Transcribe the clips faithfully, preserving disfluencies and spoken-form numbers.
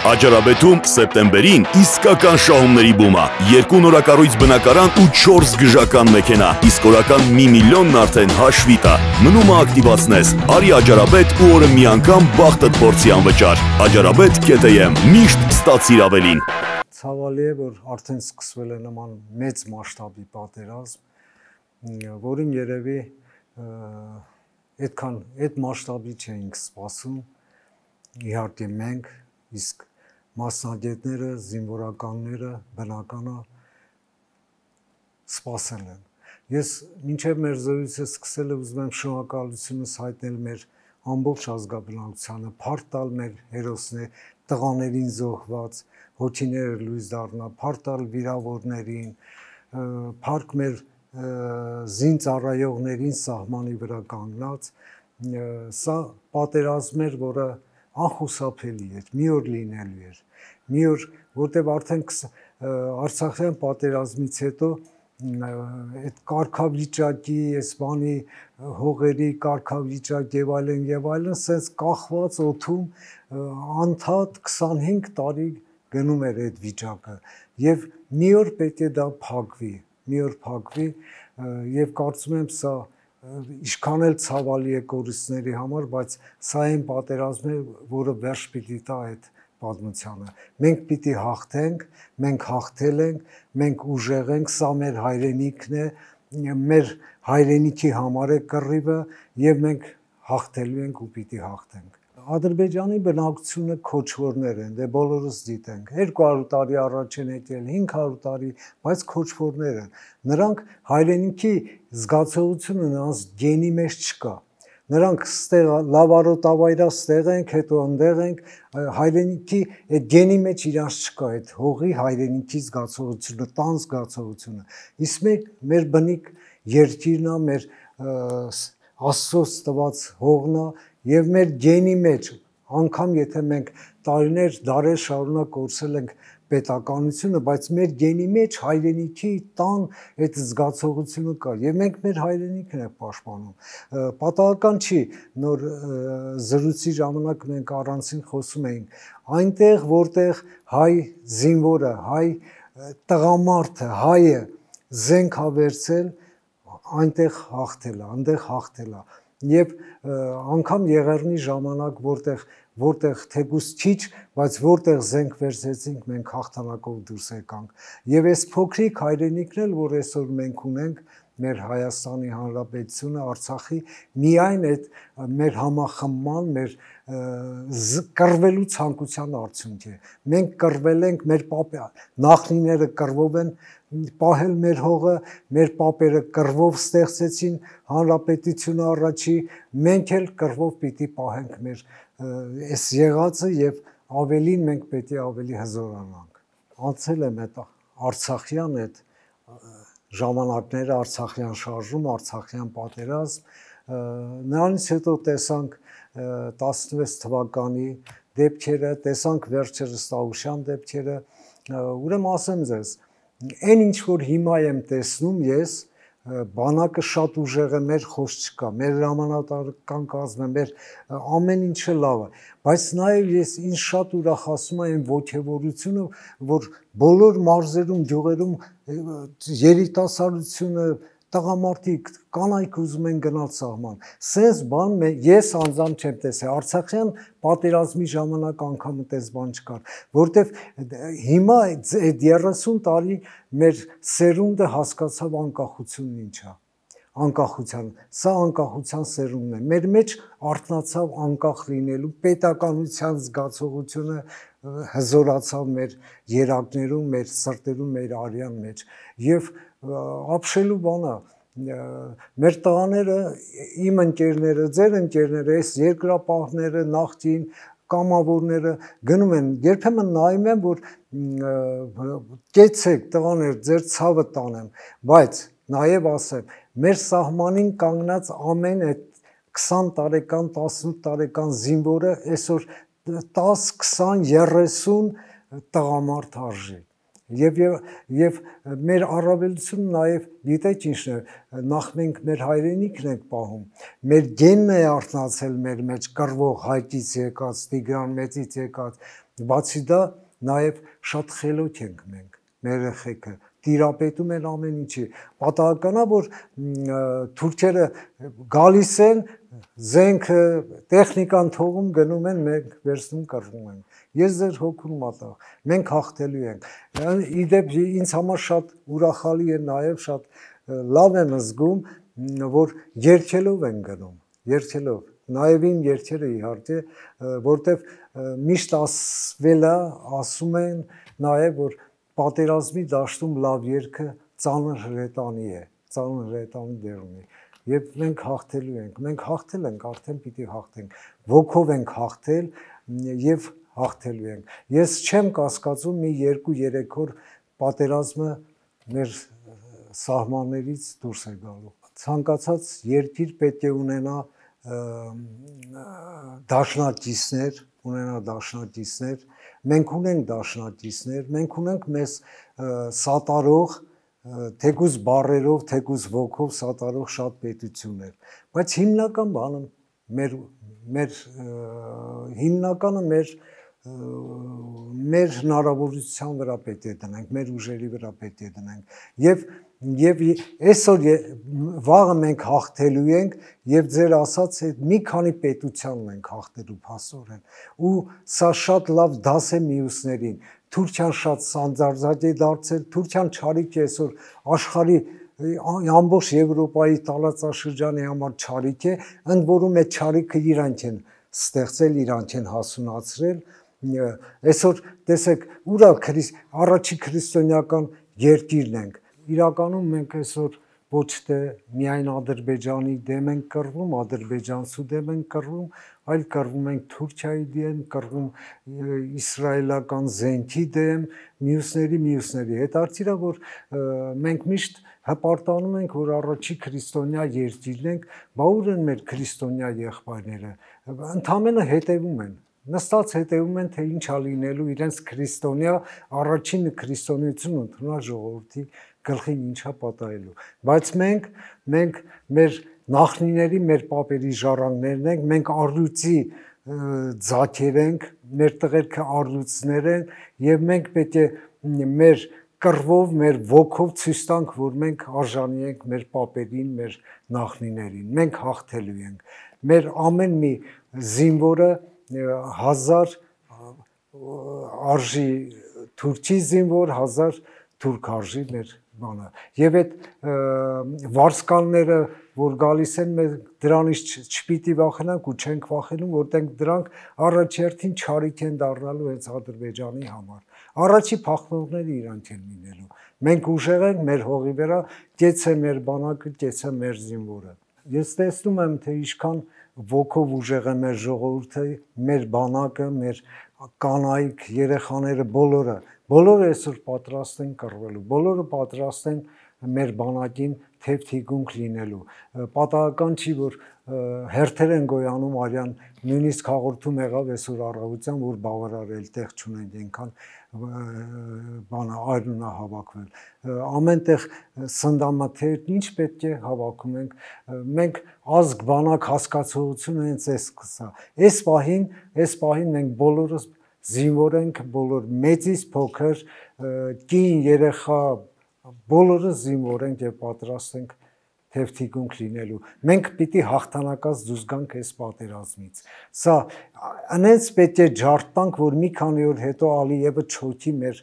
Աջարաբեթում սեպտեմբերին իսկական շահումների բում է։ Երկու նորակառույց բնակարան ու չորս գժական մեքենա, իսկ օրական մի միլիոնն արդեն հաշվի տա։ Մնում է ակտիվացնես, արի Աջարաբեթ ու օրը մի անգամ բախտդ փորձի անվճար։ Աջարաբեթ կետ եմ, միշտ ստացիր ավելին։ Ցավալի է, որ արդեն սկսվել է նման մեծ մասշտաբի պատերազմ, որին երևի այդքան այդ մասշտաբի չէինք սպասում, իհարկե մենք, իսկ մասնագետները, զինվորականները, բնականը սպասել են։ Ես մինչև մեր զրույցը սկսել ուզում եմ շնորհակալությունս հայտնել մեր ամբողջ ազգաբնակությանը, փառք տալ մեր հերոսներ, տղաներին զոհված, հոգիները լույս դառնա, փառք տալ վիրավորներին, փառք մեր զինծառայողներին սահմանի վրա կանգնած, սա պատերազմ էր, որը անխուսափելի էր, մի օր լինելու էր, մի օր, որտեղ արդեն Արցախյան պատերազմից հետո այդ կարգավիճակի, այս բանի հողերի կարգավիճակ եւ այլն եւ այլն, սենց կախված օդում անդադ քսանհինգ տարի գնում էր այդ վիճակը եւ մի օր պետք է դա փակվի, մի օր փակվի եւ կարծում եմ սա ինչքան էլ ցավալի է կորուստների համար, բայց սա այն պատերազմն է, որը վերջ պիտի տա այդ պատմությանը։ Մենք պիտի հաղթենք, մենք հաղթել ենք, մենք ուժեղ ենք, սա մեր հայրենիքն է, մեր հայրենիքի համար է կռիվը եւ մենք հաղթելու ենք ու պիտի հաղթենք։ Ադրբեջանի բնակչությունը քոչվորներ են, դե բոլորս գիտենք, երկու հարյուր տարի առաջ են եկել, հինգ հարյուր տարի, բայց քոչվորներ են։ Նրանք հայրենիքի զգացողությունը նրանց գենի մեջ չկա։ Նրանք ստեղ լավարոտավայրա ստեղ ենք, հետո ընդեղ ենք, հայրենիքի այդ գենի մեջ իրանց չկա այդ հողի հայրենիքի զգացողությունը, տան զգացողությունը։ Իսկ մեր մեր բնիկ երկիրն է, մեր Աստծոց տված հողն է եւ մեր գենի մեջ, անգամ եթե մենք տարիներ, դարեր շարունակ կորցրել ենք պետականությունը, բայց մեր գենի մեջ հայրենիքի տան այդ զգացողությունը կա եւ մենք մեր հայրենիքն ենք պաշտպանում։ Պատահական չի, նոր զրույցի ժամանակ մենք առանցին խոսում էինք, այնտեղ որտեղ հայ զինվորը, հայ տղամարդը, հայը զենք ա վերցել, այնտեղ հաղթել է, այնտեղ հաղթել է։ Եվ անգամ Եղեռնի ժամանակ, որտեղ որտեղ թեկուզ քիչ, բայց որտեղ զենք վերցեցինք, մենք հաղթանակով դուրս եկանք։ Եվ այս փոքրիկ հայրենիքն էլ, որ այսօր մենք ունենք, մեր Հայաստանի Հանրապետությունը, Արցախի, միայն այդ մեր համախմբման, մեր կռվելու ցանկության արդյունք է։ Մենք կռվել ենք, մեր նախնիները կռվով են պահել մեր հողը, մեր պապերը կռվով ստեղծեցին հանրապետությունը առաջի, մենք էլ կռվով պիտի պահենք մեր այս եղածը եւ ավելին մենք պետք է ավելի հզորանանք։ Անցել եմ այդ Արցախյան այդ ժամանակները, Արցախյան շարժում, Արցախյան պատերազմ, նրանից հետո տեսանք տասնվեց թվականի դեպքերը, տեսանք վերջերս Տավուշյան դեպքերը, ուրեմն ասեմ ձեզ, այն ինչ որ հիմա եմ տեսնում ես, բանակը շատ ուժեղ է, մեր խոսք չկա, մեր հրամանատարական կազմը, մեր ամեն ինչը լավ է, բայց նաև ես ինձ շատ ուրախացնում է այն ոգևորությունը, որ բոլոր մարզերում, գյուղերում երիտասարդությունը, տղամարդիկ, կանայք ուզում են գնալ սահման։ Սենց բան ես անձամբ չեմ տեսել, Արցախյան պատերազմի ժամանակ անգամ այդպես բան չկար, որտեվ հիմա այդ երեսուն տարի մեր սերունդը հասկացավ անկախությունն ինչ է, անկախության, սա անկախության սերունդն է, մեր մեջ արթնացավ անկախ լինելու պետականության զգացողությունը հզորացավ մեր երակներում, մեր սրտերում, մեր արյան մեջ եւ ապշելու բան է, մեր տղաները, իմ ընկերները, ձեր ընկերները, այս երկրապահները, նախկին կամավորները գնում են, երբեմն նայում են, որ կեցեք տղաներ, ձեր ցավը տանեմ, բայց նաև ասեմ, մեր սահմանին կանգնած ամեն այդ քսան տարեկան, տասնութ տարեկան զինվորը այսօր տաս, քսան, երեսուն տղամարդ արժի։ Եվ, և մեր առավելությունը նաև գիտեք ինչն է, նախ մենք մեր հայրենիքն ենք պահում, մեր գենն է արթնացել մեր մեջ կռվող Հայկից եկած, Տիգրան Մեծից եկած, Բացի դա նաև շատ խելոք ենք մենք, մեր երեխեքը տիրապետում են ամեն ինչի։ Պատահական է, որ թուրքերը գալիս են, զենքը, տեխնիկան թողում գնում են, մենք վերցնում կռվում են։ Ես ձեր հոգուն մատաղ, մենք հաղթելու ենք։ Իդեպ ինձ համար շատ ուրախալի է նաև, շատ լավ եմ զգում, որ երգելով են գնում, երգելով։ Նաև իմ երգերը իհարկե, որտեվ միշտ ասվել է, ասում են նաև, որ պատերազմի դաշտում լավ երգը ծանր հրետանի է, ծանր հրետանի դեր ունի։ Եվ մենք հաղթելու ենք, մենք հաղթել ենք, արդեն պիտի հաղթենք, ոգով ենք հաղթել եւ հաղթելու ենք։ Ես չեմ կասկածում մի երկու-երեք օր պատերազմը մեր սահմաններից դուրս է գալու։ Ցանկացած երկիր պետք է ունենա դաշնակիցներ, ունենա դաշնակիցներ, մենք ունենք դաշնակիցներ, մենք ունենք մեզ սատարող, թեկուզ բառերով, թեկուզ ոգով սատարող շատ պետություններ, բայց հիմնական բանը մեր մեր հիմնականը մեր մեր հնարավորության վրա պետք է դնենք, մեր ուժերի վրա պետք է դնենք եւ եւ այսօր վաղը մենք հաղթելու ենք եւ ձեր ասած այդ մի քանի պետությանն ենք հաղթելու փաստորեն ու սա շատ լավ դաս է մյուսներին Թուրքիան շատ սանձարձակ է դարձել Թուրքիան չարիք է այսօր աշխարհի ամբողջ Եվրոպայի տարածաշրջանի համար չարիք է ընդ որում այդ չարիքը իրանք են ստեղծել իրանք են հասունացրել այսօր տեսեք ուրա առաջի քրիստոնեական երկիրն ենք իրականում մենք այսօր ոչ թե միայն Ադրբեջանի դեմ ենք կռվում, ադրբեջանցու դեմ ենք կռվում, այլ կռվում ենք Թուրքիայի դեմ, կռվում իսրայելական զենքի դեմ, մյուսների, մյուսների։ Հետաքրքիր է, որ մենք միշտ հպարտանում ենք, որ առաջի քրիստոնյա երկիրն ենք, բա ուր են մեր քրիստոնյա եղբայրները, ընդամենը հետևում են։ Նստած հետևում են, թե ինչ է լինելու իրենց քրիստոնյա առաջին քրիստոնեություն ընդունած ժողովրդի գլխին ինչա պատահելու։ Բայց մենք մենք մեր նախնիների, մեր պապերի ժառանգներն ենք, մենք առյուծի ձագեր ենք, մեր տղերքը առյուծներ են եւ մենք պետք է մեր կռվով, մեր ոգով ցույց տանք, որ մենք արժանի ենք մեր պապերին, մեր նախնիներին։ Մենք հաղթելու ենք։ Մեր ամեն մի զինվորը հազար արժի թուրքի զինվոր, հազար թուրք արժի մեր բանը։ Եվ այդ վարսկանները, որ գալիս են, մենք դրանից չպիտի վախենանք ու չենք վախենում, որտեղ դրանք առաջերտին չարիք են դառնալու հենց Ադրբեջանի համար։ Առաջի փախնողները իրանք են լինելու։ Մենք ուժեղ ենք մեր հողի վրա, կեցե մեր բանակը, կեցե մեր զինվորը։ Ես տեսնում եմ, թե ինչքան ոգով ուժեղ է մեր ժողովուրդը, մեր բանակը, մեր կանայք, երեխաները, բոլորը, բոլորը այսօր պատրաստ են կռվելու, բոլորը պատրաստ են մեր բանակին թեփ-թիկունք լինելու։ Պատահական չի, որ հերթեր են գոյանում արյան, նույնիսկ հաղորդում եղավ այսօր առավոտյան, որ բավարարել տեղ չունենք այնքան բանը արյունա հավաքվել։ Ամենտեղ սնդամաթերն ինչ պետք է հավաքում ենք։ Մենք ազգ բանակ հասկացողությունը հենց այս կսա։ Այս պահին, այս պահին մենք բոլորս զինվոր ենք, բոլոր մեծից փոքր, կին, երեխա, բոլորս զինվոր ենք եւ պատրաստ ենք թեփ-թիկունք լինելու։ Մենք պիտի հաղթանակած դուրս գանք այս պատերազմից։ Սա այնպես պետք է ջարդ տանք, որ մի քանի օր հետո Ալիևը չոքի մեր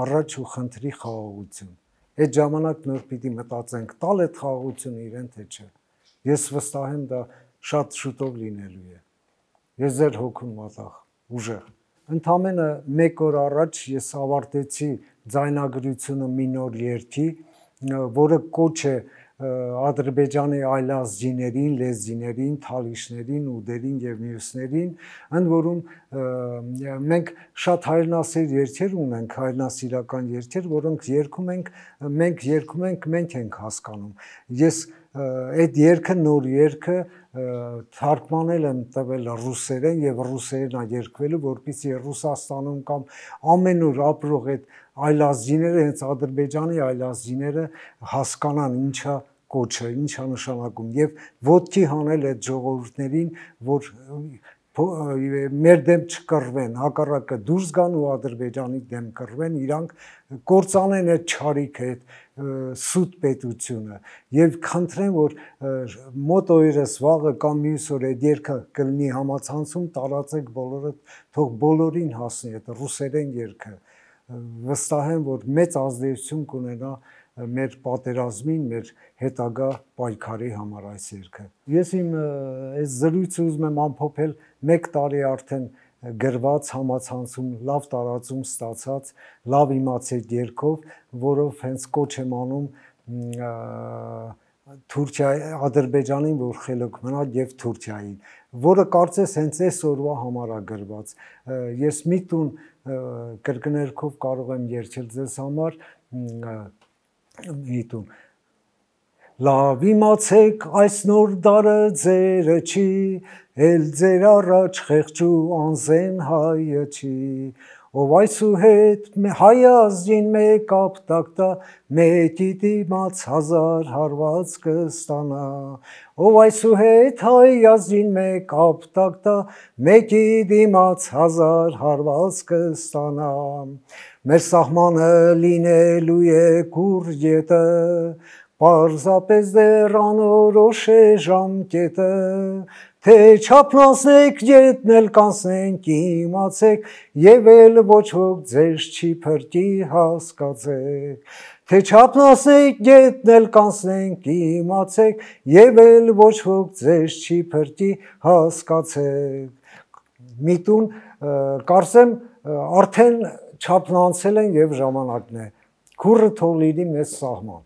առաջ ու խնդրի խաղաղություն։ Այդ ժամանակ նոր պիտի մտածենք, տալ այդ խաղաղությունը իրեն թե չէ։ Ես վստահ եմ դա շատ շուտով լինելու է։ Ես ձեր հոգուն մատաղ, ուժեղ։ Ընդամենը մեկ օր առաջ ես ավարտեցի ձայնագրությունը մի նոր երգի, որը կոչ է Ադրբեջանի այլ ազգիներին, լեզգիներին, թալիշներին, ուդերին եւ մյուսներին, ընդ որում մենք շատ հայրենասեր երգեր ունենք, հայրենասիրական երգեր, որոնք երգում ենք, մենք երգում ենք, մենք ենք հասկանում։ Ես այդ երգը նոր երգը թարգմանել եմ տվել ռուսերեն եւ ռուսերեն է երգվելու, որպեսզի Ռուսաստանում կամ ամենուր ապրող այդ այլազգիները, հենց Ադրբեջանի այլազգիները հասկանան ինչա կոչը, ինչա նշանակում եւ ոտքի հանել այդ ժողովուրդներին, որ մեր դեմ չկռվեն, հակառակը դուրս գան ու Ադրբեջանի դեմ կռվեն, իրանք կործանեն այդ չարիքը, այդ սուտ պետությունը եւ խնդրեմ, որ մոտ օրերս վաղը կամ մյուս օր այդ երգը կլինի համացանցում, տարածեք բոլորը, թող բոլորին հասնի այդ ռուսերեն երգը։ Վստահ եմ, որ մեծ ազդեցություն կունենա մեր պատերազմին, մեր հետագա պայքարի համար այս երգը։ Ես իմ այս զրույցը ուզում եմ ամփոփել մեկ տարի արդեն գրված համացանցում լավ տարածում ստացած լավ իմացեք երգով, որով հենց կոչ եմ անում Թուրքիայի, Ադրբեջանին, որ խելոք մնա եւ Թուրքիային, որը կարծես հենց այս օրվա համար է գրված։ Ես մի տուն կրկներքով կարող եմ երգել ձեզ համար մի տուն։ Լավ իմացեք այս նոր դարը ձերը չի, էլ ձեր առաջ խեղճու անզեն հայը չի, ով այսուհետ հայ ազգին մեկ ապտակտա, մեկի դիմաց հազար հարված կստանա, ով այսուհետ հայ ազգին մեկ ապտակտա, մեկի դիմաց հազար հարված կստանա, մեր սահմանը լինելու է կուր ետը, պարզապես դեռ անորոշ է ժամկետը, թե չափնացնեք ետն էլ կանցնենք իմացեք, եւ էլ ոչ ոք ձեզ չի փրկի հասկացեք, թե չափնացնեք ետն էլ կանցնենք իմացեք, եւ էլ ոչ ոք ձեզ չի փրկի հասկացեք։ Միտուն կարծեմ արդեն չափնանցել են եւ ժամանակն է, քուրը թող լինի մեզ սահման։